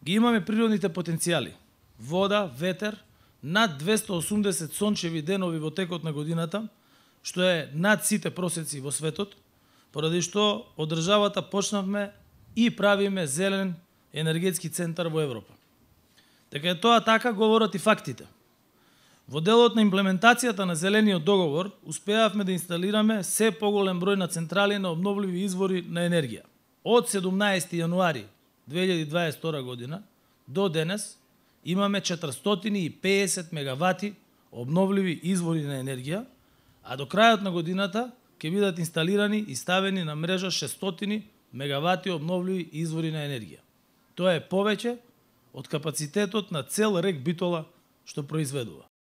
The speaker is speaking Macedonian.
ги имаме природните потенцијали. Вода, ветер, над 280 сончеви денови во текот на годината, што е над сите просеци во светот, поради што од државата почнавме и правиме зелен енергетски центар во Европа. Дека е тоа така, говорат и фактите. Во делот на имплементацијата на зелениот договор, успеавме да инсталираме се поголем број на централи на обновливи извори на енергија. Од 17 јануари 2022 година до денес имаме 450 мегавати обновливи извори на енергија, а до крајот на годината ќе бидат инсталирани и ставени на мрежа 600 мегавати обновливи извори на енергија. Тоа е повеќе од капацитетот на цел рек Битола што произведува.